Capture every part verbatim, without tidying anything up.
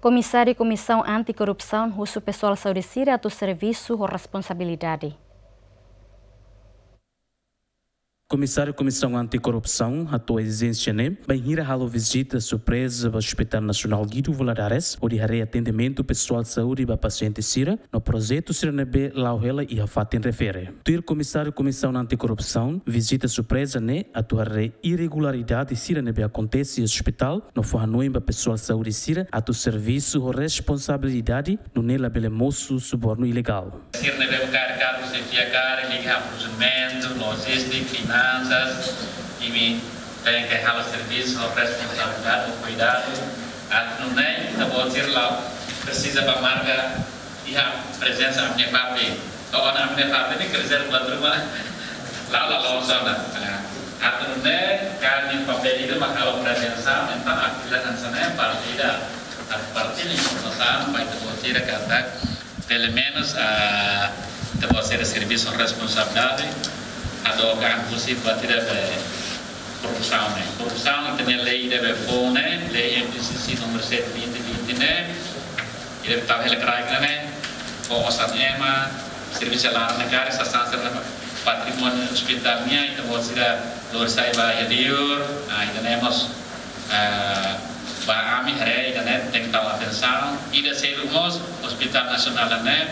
Komisáriu Komisaun Anti-Korrupsaun husu pesoál saúde sira atu servisu ho responsabilidade. Komisáriu Komisaun Anti-Korrupsaun hato'o ezijénsia ne'e bainhira halo vizita surpreza ba Hospital Nasionál Guido Valadares, hodi haree atendimentu pesoál saúde ba pasiente sira no projetu sira ne'ebé la'o hela iha fatin refere. Tuir Komisáriu Komisaun Anti-Korrupsaun, vizita surpreza ne'e atu haree irregularidade sira ne'ebé akontese iha ospitál, no fó hanoin ba pesoál saúde sira atu servisu ho responsabilidade, nune'e labele mosu subornu ilegál. Sira ne'ebé kaer kargu, xefia kaer, liga prosedumentu, lojístika, finansas, imi tenke halo servisu ho responsabilidade, ho kuidadu, atu nune'e ita-boot sira la presiza bá marka iha prezensa ami-nia papél. To'o ona ami-nia papél ne'e kerja buat ruma. La'o la loos ona. Atu nune'e kaer nia papél ida mak halo prezensa, entaun atividade hanesan ne'e parte ida. Atu parte ne'e informasaun ba ita-boot sira katak pelumenus, ah, ita-boot sira servisu ho responsabilidade, atu okan husi buat ida be korrupsaun ne'e. Korrupsaun ita-nia lei ida be foun ne'e, lei M P C C númeru sete vinte vinte ne'e, ida be tau hela kraik ne'e, fó osan ema, servisu laran ne'e karik, sasán sira-ne'e patrimóniu ospitál nian, ita-boot sira lori sai ba iha liur, ah, ida-ne'e mós, ah, ba ami haree ida-ne'e tenke tau atensaun, ida seluk mós, Hospital Nasionál ne'e,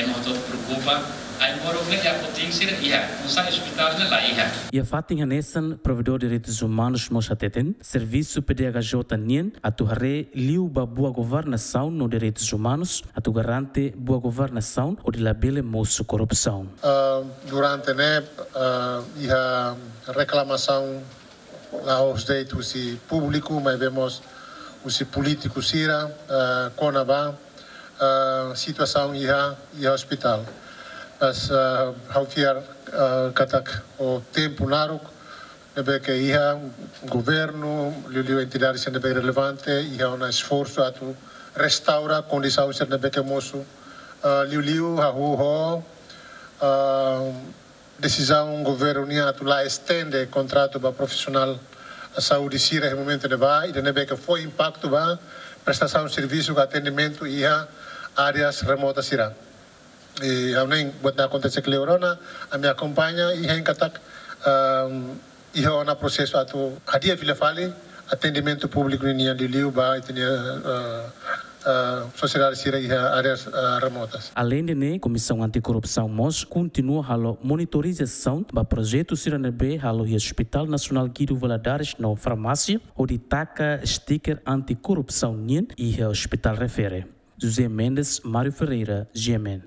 ema hotu preokupa, ai moro ke ya potin sira iha, nusá ospitál ne'e la iha. Iha fatin hanesan, Provedór Direitus Umanus mós hateten, servisu P D H J nian atu haree liu ba boa governasaun no direitus umanus, atu garante boa governasaun hodi labele mosu korrupsaun. Ah, durante ne'e, ah, iha reklamasaun la'ós de'it husi públiku, maibé mós husi polítiku sira, ah, kona-ba, ah, situasaun iha, iha ospitál. Mas, ah, ha'u fiar, ah, katak ho tempu naruk, ne'ebé ke iha governu, liuliu entidade sira ne'ebé relevante, iha ona esforsu atu restaura kondisaun sira ne'ebé ke mosu, ah, liuliu hahú ho, ah, desizaun governu nian atu la estende kontratu ba profisionál saúde sira iha momentu ne'ebá, ida ne'ebé ke fó impaktu ba prestasaun servisu ka atendimentu iha áreas remotas sira. I ha'u hanoin buat ne'e akontese kleur ona, ami akompaña i hein katak, ehm, iha ona prosesu atu hadi'a fila fali atendimentu públiku ninian liuliu ba ita-nia, eh, eh, sosiedade sira iha áreas, eh, remotas. Aleinde ne'e, Komisaun Anti-Korrupsaun mós kontinua halo monitorizasaun ba projetu sira ne'ebé halo iha Hospital Nasionál Guido Valadares no farmásia, hodi taka sticker anti-korrupsaun nian iha ospitál refere. José Mendes, Mário Ferreira, G M N.